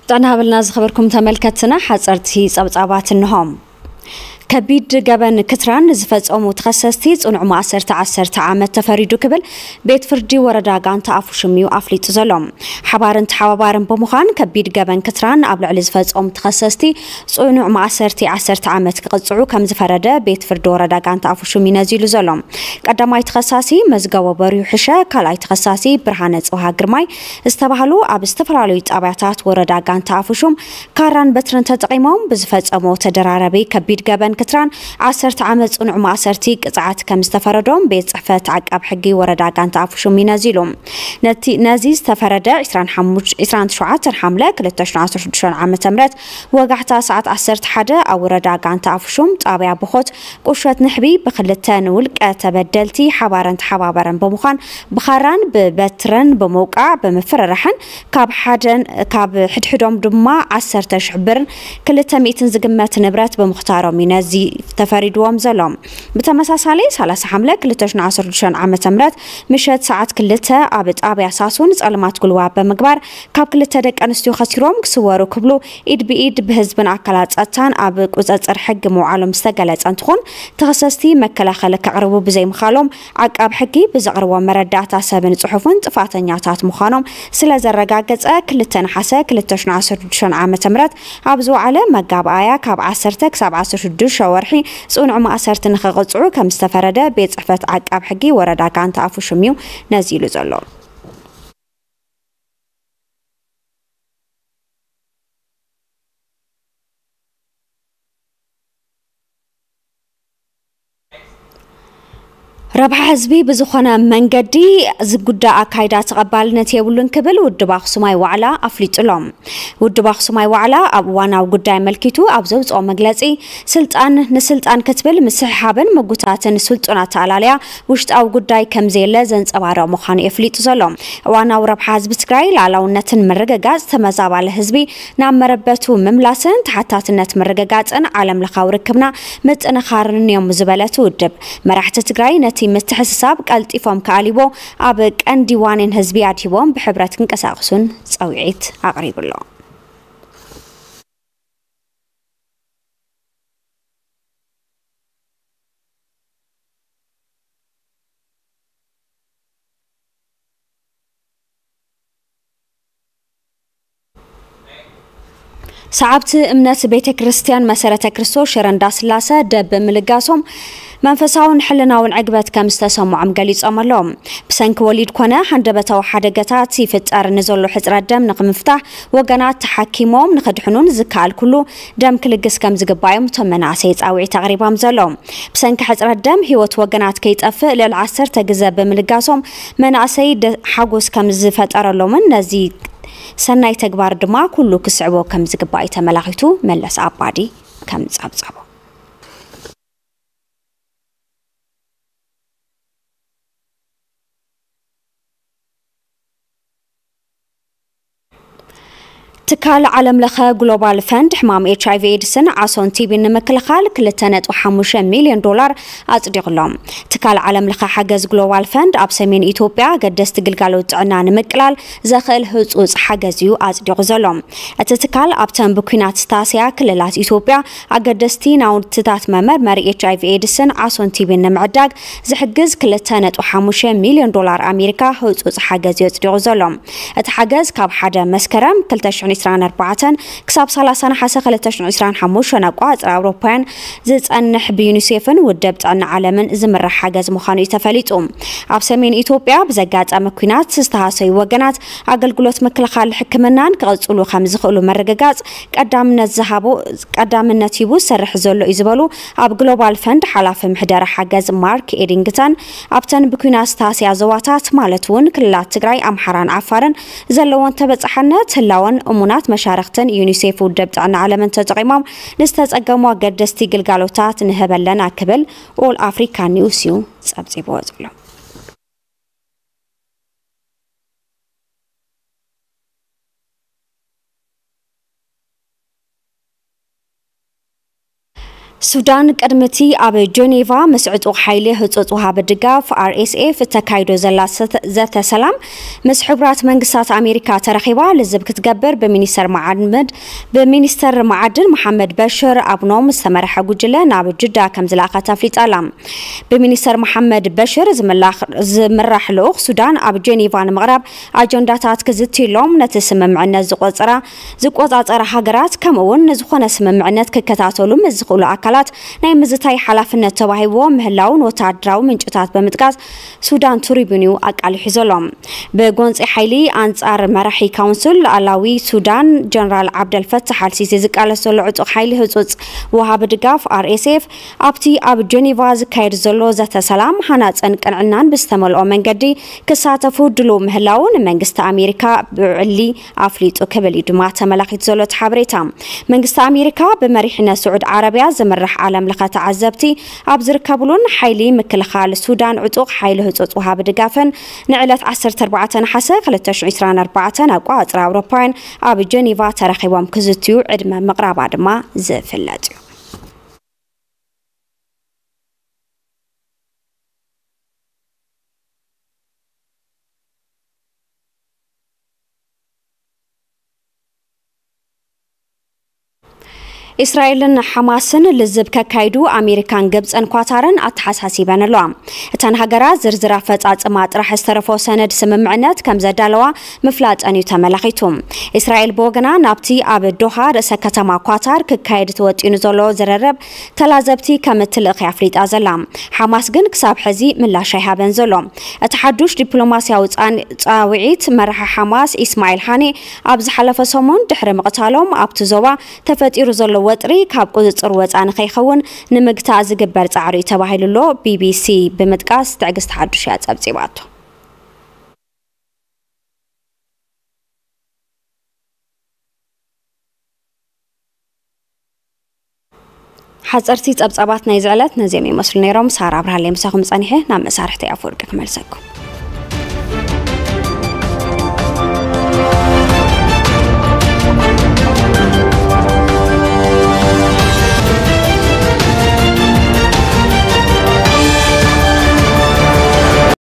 ጥዕና ሃበልና ዝኸበርኩም ተመልከትና፣ ሓጸርቲ ጸብጻባት እንሆም። ከቢድ ገበን ክትራን ዝፈጸሙ ተኸሰስቲ ጽኑዕ ማእሰርቲ ዓሰርተ ዓመት ተፈሪዱ ክብል ቤት ፍርዲ ወረዳ ጋንታ ኣፉሽም እዩ ኣፍሊጡ ዘሎ። ሓባርን ተሓባባርን ብምዃን ከቢድ ገበን ክትራን ኣብ ልዕሊ ዝፈጸሙ ተኸሰስቲ ጽኑዕ ማእሰርቲ ዓሰርተ ዓመት ክቕጽዑ ከም ዝፈረደ ቤት ፍርዲ ወረዳ ጋንታ ኣፉሽም እዩ ነዚሉ ዘሎ። ቀዳማይ ተኸሳሲ መዝገቦ በሪሁ ሕሸ፣ ካልኣይ ተኸሳሲ ብርሃነ ጽብሃ ግርማይ ዝተባህሉ ኣብ ዝተፈላለዩ ጣብያታት ወረዳ ጋንታ ኣፉሽም ካራን በትርን ተጠቒሞም ብዝፈጸሞ ተደራረቢ ከቢድ ገበን ክትራን ዓሰርተ ዓመት ጽኑዕ ማእሰርቲ ቅጽዓት ከም ዝተፈረዶም ቤት ጽሕፈት ዓቃብ ሕጊ ወረዳ ጋንታ ኣፉሽም እዩ ነዚሉ። ነቲ፣ ነዚ ዝተፈረደ ዕስራን ሓሙሽተ፣ ዕስራን ትሽዓተን ሓምለ ክልተ ሽሕን ዓሰርተ ሽዱሽተን ዓመተ ምህረት ወጋሕታ ሰዓት ዓሰርተ ሓደ ኣብ ወረዳ ጋንታ ኣፉሽም ጣብያ ብኾት ቁሸት ንሕቢ ብክልተ ንውልቀ ተበደልቲ ሓባርን ተሓባበረን ብምዃን ብኻራን ብበትርን ብምውቃዕ ብምፍርራሕን ካብ ሓደን፣ ካብ ሕድሕዶም ድማ ዓሰርተ ሽሕ ብርን ክልተ ሚእትን ዝግመት ንብረት ብምኽታሮም እዩ ነዚ ተፈሪድዎም ዘሎ። ብተመሳሳሊ ሰላሳ ሓምለ ክልተ ሽሕን ዓሰርተ ሽዱሽተን ዓመተ ምህረት ምሸት ሰዓት ክልተ ኣብ ጣብያ ሳሱን ጸልማት ጉልባብ ብምግባር ካብ ክልተ ደቂ ኣንስትዮ ከሲሮም ክስወሩ ክብሉ ኢድ ብኢድ ብህዝብን ኣካላት ጸጥታን ኣብ ቁጽጽር ሕጊ ምውዓሎም ዝተገለጸ እንትኾን፣ ተኸሰስቲ መከላኸሊ ከቕርቡ ብዘይምኻሎም ዓቃብ ሕጊ ብዘቕርቦ መረዳእታ ሰብን ጽሑፍን ጥፋተኛታት ምዃኖም ስለ ዘረጋገጸ፣ ክልተ ነሓሰ ክልተ ሽሕን ዓሰርተ ሽዱሽተን ዓመተ ምህረት ኣብ ዝወዓለ መጋባእያ ካብ ዓሰርተ ክሳብ ዓሰርተ ሽዱሽተ ወርሒ ጽኑዕ ማእሰርቲ ንኽቕጽዑ ከም ዝተፈረደ ቤት ጽሕፈት ዓቃብ ሕጊ ወረዳ ጋንታ ኣፉሽም እዩ ነዚሉ ዘሎ። ረብሓ ህዝቢ ብዝኾነ መንገዲ ዝጉዳእ ኣካይዳ ተቐባልነት የብሉን ክብል ውድብ ኣኽሱማይ ዋዕላ ኣፍሊጡ ኣሎ። ውድብ ኣኽሱማይ ዋዕላ ኣብ እዋናዊ ጉዳይ ኣመልኪቱ ኣብ ዘውፅኦ መግለፂ፣ ስልጣን ንስልጣን ክትብል ምስሕሓብን ምጉታትን ስልጡን ኣተኣላልያ ውሽጣዊ ጉዳይ ከም ዘየለ ዘንፀባርቕ ምዃኑ የፍሊጡ ዘሎ። እዋናዊ ረብሓ ህዝቢ ትግራይ፣ ሉዓላውነትን ምርግጋፅ ተመዛባሊ ህዝቢ ናብ መረበቱ ምምላስን ተሓታትነት ምርግጋፅን ዓለም ለኻዊ ርክብና ምጥንኻርን እዮም ዝበለት ውድብ፣ መራሕቲ ትግራይ ነቲ ምትሕስሳብ ቀልጢፎም ክኣልይዎ ኣብ ቀንዲ ዋኒን ህዝቢ ኣድሂቦም ብሕብረት ክንቀሳቐሱን ጸውዒት ኣቕሪቡ ኣሎ። ሰዓብቲ እምነት ቤተ ክርስቲያን መሰረተ ክርስቶስ ሽረ እንዳስላሰ ደም ብምልጋሶም መንፈሳውን ሕልናውን ዕግበት ከም ዝተሰምዖም ገሊጾም ኣለዉ። ብሰንኪ ወሊድ ኮነ ሃንደበታዊ ሓደጋታት ይፍጠር ንዘሎ ሕጽረት ደም ንኽምፍታሕ ወገናት ተሓኪሞም ንኽድሕኑን ዝከኣል ኩሉ ደም ክልግስ ከም ዝግባእ እዮም እቶም መናእሰይ ጻውዒት ኣቕሪቦም ዘለዉ። ብሰንኪ ሕጽረት ደም ህይወት ወገናት ከይጠፍእ ልዕሊ ዓሰርተ ግዘ ብምልጋሶም መናእሰይ ደ-፣ ሓጎስ ከም ዝፈጠረሎምን ነዚ ሰናይ ተግባር ድማ ኩሉ ክስዕቦ ከም ዝግባእ እዩ ተመላኺቱ። መለስ ኣባዲ ከም ጸብጸቦ። ትካል ዓለም ለኸ ግሎባል ፈንድ ሕማም ኤች ኣይ ቪ ኤድስን ዓሶን ቲ ቢን ንምክልኻል ክልተ ነጥቢ ሓሙሽተ ሚልዮን ዶላር ኣጽዲቑ ኣሎ። ትካል ዓለም ለኸ ሓገዝ ግሎባል ፈንድ ኣብ ሰሜን ኢትዮጵያ ኣገደስቲ ግልጋሎት ጥዕና ንምቅላል ዘኽእል ህጹጽ ሓገዝ እዩ ኣጽዲቑ ዘሎ። እቲ ትካል ኣብተን ብኲናት ዝታሰያ ክልላት ኢትዮጵያ ኣገደስቲ ናውትታት መመርመሪ ኤች ኣይ ቪ ኤድስን ዓሶን ቲ ቢን ንምዕዳግ ዝሕግዝ ክልተ ነጥቢ ሓሙሽተ ሚልዮን ዶላር ኣሜሪካ ህጹጽ ሓገዝ እዩ ኣጽዲቑ ዘሎ። እቲ ሓገዝ ካብ ሓደ መስከረም ክልተ ሽሕን ዕስራን ኣርባዕተን ክሳብ ሰላሳ ነሓሰ ክልተ ሽሕን ዕስራን ሓሙሽተን ኣቆጻጽራ ኣውሮፓውያን ዝጸንሕ ብዩኒሴፍን ውድብ ጥዕና ዓለምን ዝምራሕ ሓገዝ ምዃኑ እዩ ተፈሊጡ። ኣብ ሰሜን ኢትዮጵያ ብዘጋጠመ ኲናት ዝተሃሰዩ ወገናት ኣገልግሎት ምክልኻል ሕክምናን ክቕጽሉ ከም ዝኽእሉ ምርግጋጽ ቀዳምነት ዝሃቦ፣ ቀዳምነት ሂቡ ዝሰርሕ ዘሎ እዩ ዝበሉ ኣብ ግሎባል ፈንድ ሓላፊ ምሕደራ ሓገዝ ማርክ ኤዲንግተን፣ ኣብተን ብኲናት ዝተሃስያ ዞባታት ማለት እውን ክልላት ትግራይ፣ ኣምሓራን ዓፋርን ዘለዎን ተበጻሕነት ህላወን እሙናት መሻርኽትን ዩኒሴፍ ውድብ ጥዕና ዓለምን ተጠቒሞም ንዝተጸገሙ ኣገደስቲ ግልጋሎታት ንህበለና ክብል ኦል ኣፍሪካ ኒውስ እዩ ጸብጺብዎ ዘሎ። ሱዳን ቅድሚ እቲ ኣብ ጀኔቫ ምስ ዕጡቕ ሓይሊ ህጹጽ ወሃቢ ድጋፍ፣ ኣር ኤስ ኤፍ፣ እተካይዶ ዘላ ሰተ-፣ ዘተ ሰላም፣ ምስ ሕቡራት መንግስታት ኣሜሪካ ተረኺባ ልዝብ ክትገብር ብሚኒስተር መዓድን፣ ብሚኒስተር መዓድን መሓመድ በሽር ኣብኖም ዝተመርሐ ጉጅለ ናብ ጅዳ ከም ዝለኣኸት ኣፍሊጣ ኣላ። ብሚኒስተር መሓመድ በሽር ዝምላኽ-፣ ዝምራሕ ልኡኽ ሱዳን ኣብ ጀኔቫ ንምቕራብ ኣጀንዳታት ክዝትዩሎም፣ ነቲ ስምምዕነት ዝቆጸራ፣ ዝቆጻጸራ ሃገራት፣ ከምኡ እውን ንዝኾነ ስምምዕነት ክከታተሉ ምስ ዝኽእሉ ኣካላት ናይ ምዝታይ ሓላፍነት ተዋሂብዎ ምህላውን ወተሃደራዊ ምንጭታት ብምጥቃስ ሱዳን ትሪቡን እዩ ኣቃሊሑ ዘሎ። ብጎንፂ ሓይሊ ኣንጻር መራሒ ካውንስል ሉዓላዊ ሱዳን ጀነራል ዓብደል ፈታሕ ኣልሲሲ ዝቃለስ ዘሎ ዕጡቕ ሓይሊ ህጹጽ ወሃቢ ድጋፍ፣ ኣር ኤስ ኤፍ፣ ኣብቲ ኣብ ጀኔቫ ዝካየድ ዘሎ ዘተ ሰላም፣ ሃናጽን ቅንዕናን ብዝተመልኦ መንገዲ ክሳተፉ ድሉው ምህላዉ ንመንግስቲ ኣሜሪካ ብዕሊ ኣፍሊጡ ክብል እዩ ድማ ተመላኺቱ ዘሎ እቲ ሓበሬታ። መንግስቲ ኣሜሪካ ብመሪሕነት ስዑድ ዓረብያ ዝምራሕ ዓለም ለኸ ተዓዘብቲ ኣብ ዝርከብሉን ሓይሊ ምክልኻል ሱዳን ዕጡቕ ሓይሊ ህጹጽ ወሃቢ ድጋፍን ንዕለት ዓሰርተ ኣርባዕተ ነሓሰ ክልተ ሽሕን ዕስራን ኣርባዕተን ኣቋጽራ ኣውሮፓውያን ኣብ ጀኔቫ ተረኺቦም ክዝትዩ ዕድመ ምቕራባ ድማ ዝፍለጥ እዩ። እስራኤልን ሓማስን ልዝብ ከካይዱ ኣሜሪካን ግብፅን ኳታርን ኣተሓሳሲበን ኣለዋ። እተን ሃገራት ዝርዝር ኣፈፃፅማ ጥራሕ ዝተረፎ ሰነድ ስምምዕነት ከም ዘዳለዋ ምፍላጠን እዩ ተመላኺቱ። እስራኤል ብወገና ናብቲ ኣብ ዶሃ ርእሰ ከተማ ኳታር ክካየድ ተወጢኑ ዘሎ ዝርርብ ተላዘብቲ ከም እትልእኽ ኣፍሊጣ ዘላ። ሓማስ ግን ክሳብ ሕዚ ምላሽ ኣይሃበን ዘሎ። እቲ ሓዱሽ ዲፕሎማስያዊ ፃን-፣ ፃውዒት መራሒ ሓማስ ኢስማዒል ሃኔ ኣብ ዝሓለፈ ሰሙን ድሕሪ ምቕታሎም ኣብቲ ዞባ ተፈጢሩ ዘሎ ወጥሪ ካብ ቁፅፅር ወፃ ንኸይኸውን ንምግታእ ዝግበር ፃዕሪ እዩ ተባሂሉ ኣሎ፣ ቢ ቢ ሲ ብምጥቃስ ትዕግስቲ ሓዱሽ እያ ጸብጺባቶ። ሓፀርቲ ጸብጻባት ናይዚ ዕለት ነዚኦም ይመስሉ ነይሮም። ሳራ ኣብርሃለይ ምሳኹም ጸኒሐ ናብ መሳርሕቲ ኣፈወርቂ ክመልሰኩም።